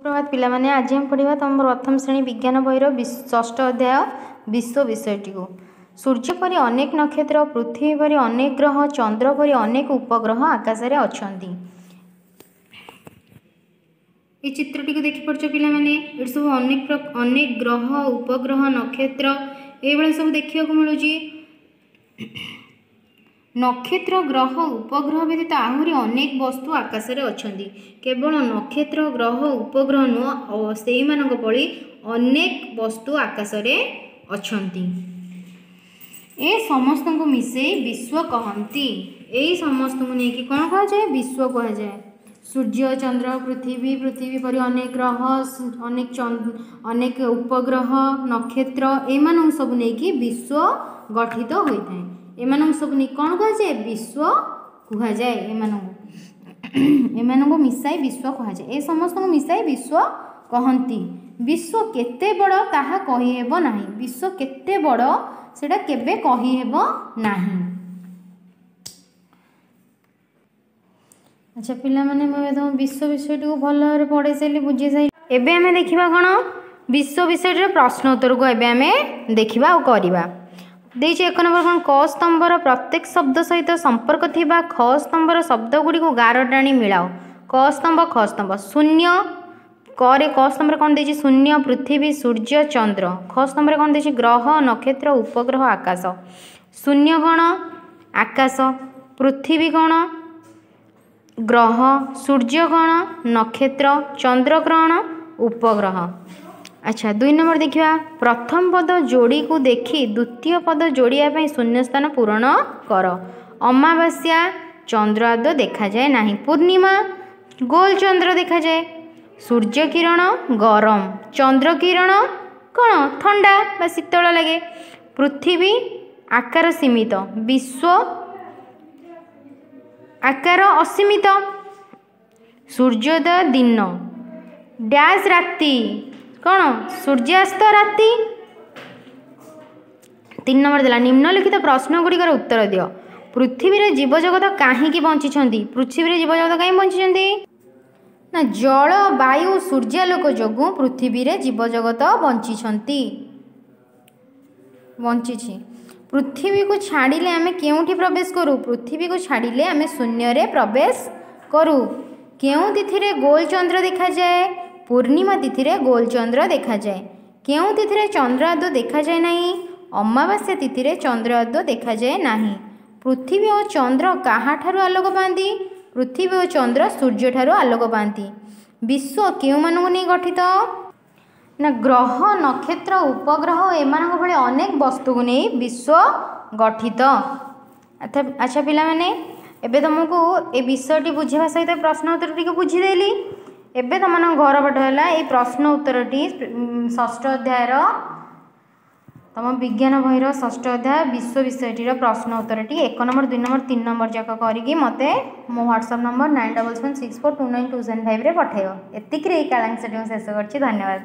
ସୁପ୍ରଭାତ ପିଲାମାନେ, ଆଜି ଆମେ ପଢ଼ିବା ତୁମ ପ୍ରଥମ ଶ୍ରେଣୀ ବିଜ୍ଞାନ ବହିର ଷଷ୍ଠ ଅଧ୍ୟାୟ ବିଶ୍ୱ ବିଷୟଟିକୁ। ସୂର୍ଯ୍ୟ ପରି ଅନେକ ନକ୍ଷତ୍ର, ପୃଥିବୀ ପରି ଅନେକ ଗ୍ରହ, ଚନ୍ଦ୍ର ପରି ଅନେକ ଉପଗ୍ରହ ଆକାଶରେ ଅଛନ୍ତି। ଏ ଚିତ୍ରଟିକୁ ଦେଖିପାରୁଛ ପିଲାମାନେ? ଏଠି ସବୁ ଅନେକ ଅନେକ ଗ୍ରହ, ଉପଗ୍ରହ, ନକ୍ଷତ୍ର ଏଇଭଳିଆ ସବୁ ଦେଖିବାକୁ ମିଳୁଛି। ନକ୍ଷତ୍ର, ଗ୍ରହ, ଉପଗ୍ରହ ବ୍ୟତୀତ ଆହୁରି ଅନେକ ବସ୍ତୁ ଆକାଶରେ ଅଛନ୍ତି। କେବଳ ନକ୍ଷତ୍ର, ଗ୍ରହ, ଉପଗ୍ରହ ନୁହଁ, ସେଇମାନଙ୍କ ଭଳି ଅନେକ ବସ୍ତୁ ଆକାଶରେ ଅଛନ୍ତି। ଏ ସମସ୍ତଙ୍କୁ ମିଶେଇ ବିଶ୍ୱ କହନ୍ତି। ଏଇ ସମସ୍ତଙ୍କୁ ନେଇକି କ'ଣ କୁହାଯାଏ? ବିଶ୍ୱ କୁହାଯାଏ। ସୂର୍ଯ୍ୟ, ଚନ୍ଦ୍ର, ପୃଥିବୀ, ପୃଥିବୀ ପରି ଅନେକ ଗ୍ରହ, ଅନେକ ଉପଗ୍ରହ, ନକ୍ଷତ୍ର, ଏମାନଙ୍କୁ ସବୁ ନେଇକି ବିଶ୍ୱ ଗଠିତ ହୋଇଥାଏ। ଏମାନଙ୍କୁ ସବୁ ନେଇ କ'ଣ କୁହାଯାଏ? ବିଶ୍ୱ କୁହାଯାଏ। ଏମାନଙ୍କୁ ମିଶାଇ ବିଶ୍ୱ କୁହାଯାଏ। ଏ ସମସ୍ତଙ୍କୁ ମିଶାଇ ବିଶ୍ୱ କହନ୍ତି। ବିଶ୍ୱ କେତେ ବଡ଼ ତାହା କହିହେବ ନାହିଁ। ବିଶ୍ୱ କେତେ ବଡ଼ ସେଇଟା କେବେ କହିହେବ ନାହିଁ। ଆଚ୍ଛା ପିଲାମାନେ, ମୁଁ ଏବେ ତୁମ ବିଶ୍ୱ ବିଷୟଟିକୁ ଭଲ ଭାବରେ ପଢ଼େଇ ସାରିଲି, ବୁଝେଇ ସାରିଲି। ଏବେ ଆମେ ଦେଖିବା କ'ଣ? ବିଶ୍ୱ ବିଷୟଟିର ପ୍ରଶ୍ନ ଉତ୍ତରକୁ ଏବେ ଆମେ ଦେଖିବା ଆଉ କରିବା। ଦେଇଛି 1 ନମ୍ବର କ'ଣ? କ ସ୍ତମ୍ଭର ପ୍ରତ୍ୟେକ ଶବ୍ଦ ସହିତ ସମ୍ପର୍କ ଥିବା ଖ ସ୍ତମ୍ଭର ଶବ୍ଦ ଗୁଡ଼ିକୁ ଗାର ଟାଣି ମିଳାଅ। କ ସ୍ତମ୍ଭ, ଖ ସ୍ତମ୍ଭ। ଶୂନ୍ୟ, କରେ କ ସ୍ତମ୍ଭରେ କ'ଣ ଦେଇଛି? ଶୂନ୍ୟ, ପୃଥିବୀ, ସୂର୍ଯ୍ୟ, ଚନ୍ଦ୍ର। ଖ ସ୍ତମ୍ଭରେ କ'ଣ ଦେଇଛି? ଗ୍ରହ, ନକ୍ଷତ୍ର, ଉପଗ୍ରହ, ଆକାଶ। ଶୂନ୍ୟ କ'ଣ? ଆକାଶ। ପୃଥିବୀ କ'ଣ? ଗ୍ରହ। ସୂର୍ଯ୍ୟ କ'ଣ? ନକ୍ଷତ୍ର। ଚନ୍ଦ୍ର କ'ଣ? ଉପଗ୍ରହ। ଆଚ୍ଛା, 2 ନମ୍ବର ଦେଖିବା। ପ୍ରଥମ ପଦ ଯୋଡ଼ିକୁ ଦେଖି ଦ୍ୱିତୀୟ ପଦ ଯୋଡ଼ିବା ପାଇଁ ଶୂନ୍ୟସ୍ଥାନ ପୂରଣ କର। ଅମାବାସ୍ୟା ଚନ୍ଦ୍ର ଆଦୌ ଦେଖାଯାଏ ନାହିଁ। ପୂର୍ଣ୍ଣିମା ଗୋଲ ଚନ୍ଦ୍ର ଦେଖାଯାଏ। ସୂର୍ଯ୍ୟ କିରଣ ଗରମ, ଚନ୍ଦ୍ର କିରଣ କ'ଣ? ଥଣ୍ଡା ବା ଶୀତଳ ଲାଗେ। ପୃଥିବୀ ଆକାର ସୀମିତ, ବିଶ୍ୱ ଆକାର ଅସୀମିତ। ସୂର୍ଯ୍ୟୋଦୟ ଦିନ ଡ୍ୟାସ୍ ରାତି କ'ଣ? ସୂର୍ଯ୍ୟାସ୍ତ ରାତି। 3 ନମ୍ବର ଦେଲା, ନିମ୍ନଲିଖିତ ପ୍ରଶ୍ନ ଗୁଡ଼ିକର ଉତ୍ତର ଦିଅ। ପୃଥିବୀରେ ଜୀବଜଗତ କାହିଁକି ବଞ୍ଚିଛନ୍ତି? ପୃଥିବୀରେ ଜୀବଜଗତ କାହିଁକି ବଞ୍ଚିଛନ୍ତି ନା, ଜଳ, ବାୟୁ, ସୂର୍ଯ୍ୟାଲୋକ ଯୋଗୁଁ ପୃଥିବୀରେ ଜୀବଜଗତ ବଞ୍ଚିଛନ୍ତି, ବଞ୍ଚିଛି। ପୃଥିବୀକୁ ଛାଡ଼ିଲେ ଆମେ କେଉଁଠି ପ୍ରବେଶ କରୁ? ପୃଥିବୀକୁ ଛାଡ଼ିଲେ ଆମେ ଶୂନ୍ୟରେ ପ୍ରବେଶ କରୁ। କେଉଁ ତିଥିରେ ଗୋଲ ଚନ୍ଦ୍ର ଦେଖାଯାଏ? ପୂର୍ଣ୍ଣିମା ତିଥିରେ ଗୋଲ ଚନ୍ଦ୍ର ଦେଖାଯାଏ। କେଉଁ ତିଥିରେ ଚନ୍ଦ୍ର ଆଦୌ ଦେଖାଯାଏ ନାହିଁ? ଅମାବାସ୍ୟା ତିଥିରେ ଚନ୍ଦ୍ର ଆଦୌ ଦେଖାଯାଏ ନାହିଁ। ପୃଥିବୀ ଓ ଚନ୍ଦ୍ର କାହାଠାରୁ ଆଲୋକ ପାଆନ୍ତି? ପୃଥିବୀ ଓ ଚନ୍ଦ୍ର ସୂର୍ଯ୍ୟଠାରୁ ଆଲୋକ ପାଆନ୍ତି। ବିଶ୍ୱ କେଉଁମାନଙ୍କୁ ନେଇ ଗଠିତ? ନା, ଗ୍ରହ, ନକ୍ଷତ୍ର, ଉପଗ୍ରହ ଏମାନଙ୍କ ଭଳି ଅନେକ ବସ୍ତୁକୁ ନେଇ ବିଶ୍ୱ ଗଠିତ। ଆଚ୍ଛା ପିଲାମାନେ, ଏବେ ତୁମକୁ ଏ ବିଷୟଟି ବୁଝିବା ସହିତ ପ୍ରଶ୍ନ ଉତ୍ତର ଟିକେ ବୁଝିଦେଲି। ଏବେ ତୁମମାନଙ୍କ ଘର ପାଠ ହେଲା ଏଇ ପ୍ରଶ୍ନ ଉତ୍ତରଟି ଷଷ୍ଠ ଅଧ୍ୟାୟର, ତୁମ ବିଜ୍ଞାନ ବହିର ଷଷ୍ଠ ଅଧ୍ୟାୟ ବିଶ୍ୱ ବିଷୟଟିର ପ୍ରଶ୍ନ ଉତ୍ତରଟି 1 ନମ୍ବର, 2 ନମ୍ବର, 3 ନମ୍ବର ଯାକ କରିକି ମୋତେ ମୋ ହ୍ୱାଟ୍ସଆପ୍ ନମ୍ବର 9776429275ରେ ପଠାଇବ। ଏତିକିରେ ଏଇ କାଳାଂଶଟି ମୁଁ ଶେଷ କରୁଛି। ଧନ୍ୟବାଦ।